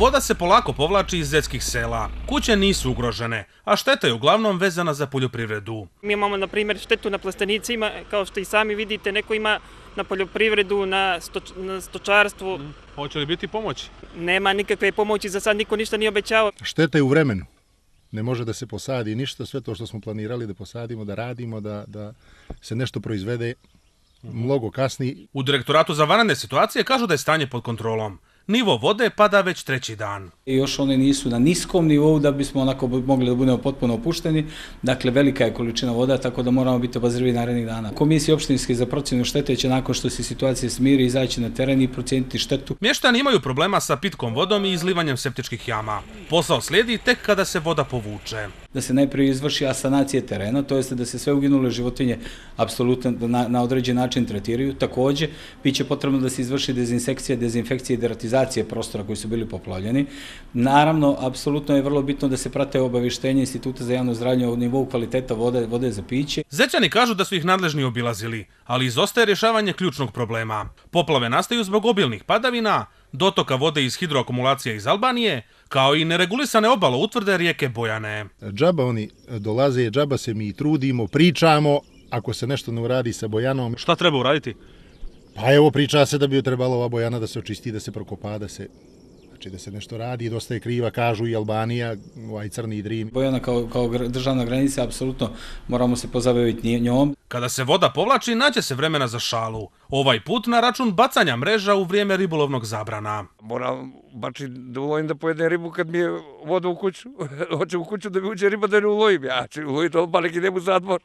Voda se polako povlači iz zetskih sela. Kuće nisu ugrožene, a šteta je uglavnom vezana za poljoprivredu. Mi imamo, na primjer, štetu na plastenicima, kao što i sami vidite, neko ima na poljoprivredu, na stočarstvu. Hoće li biti pomoći? Nema nikakve pomoći, za sad niko ništa nije obećao. Šteta je u vremenu. Ne može da se posadi ništa, sve to što smo planirali da posadimo, da radimo, da se nešto proizvede mnogo kasnije. U Direktoratu za vanredne situacije kažu da je stanje pod kontrolom. Nivo vode pada već 3. dan. I još one nisu na niskom nivou da bismo onako mogli da budemo potpuno opušteni. Dakle, velika je količina voda, tako da moramo biti obazrivi narednih dana. Komisija opštinske za procjenu štete će nakon što se situacija smiri izaći na teren i procijeniti štetu. Mještani imaju problema sa pitkom vodom i izlivanjem septičkih jama. Posao slijedi tek kada se voda povuče. Da se najprije izvrši asanacija terena, to jest da se sve uginule životinje apsolutno na određen način tretiraju. Također, bit će potrebno da se izvrši dezinsekcija, dezinfekcija i deratizacija prostora koji su bili poplavljeni. Naravno, apsolutno je vrlo bitno da se prate obavještenja Instituta za javno zdravlje o nivou kvaliteta vode za piće. Zećani kažu da su ih nadležni obilazili, ali izostaje rješavanje ključnog problema. Poplave nastaju zbog obilnih padavina, dotoka vode iz hidroakumulacija iz Albanije, kao i neregulisane obaloutvrde rijeke Bojane. Džaba oni dolaze, džaba se mi trudimo, pričamo, ako se nešto ne uradi sa Bojanom. Šta treba uraditi? Pa evo, priča se da bi trebalo ova Bojana da se očisti, da se prokopa, da se nešto radi, dosta je kriva, kažu i Albanija, ovaj Crni Drim. Bojana kao državna granica, apsolutno moramo se pozabaviti njom. Kada se voda povlači, nađe se vremena za šalu. Ovaj put na račun bacanja mreža u vrijeme ribolovnog zabrana. Moram bačiti da ulovim da pojedem ribu kad mi je voda u kuću. Hoće u kuću da mi uđe riba da ne ulovim. Ja ću uloviti odmah neki idem u zatvor.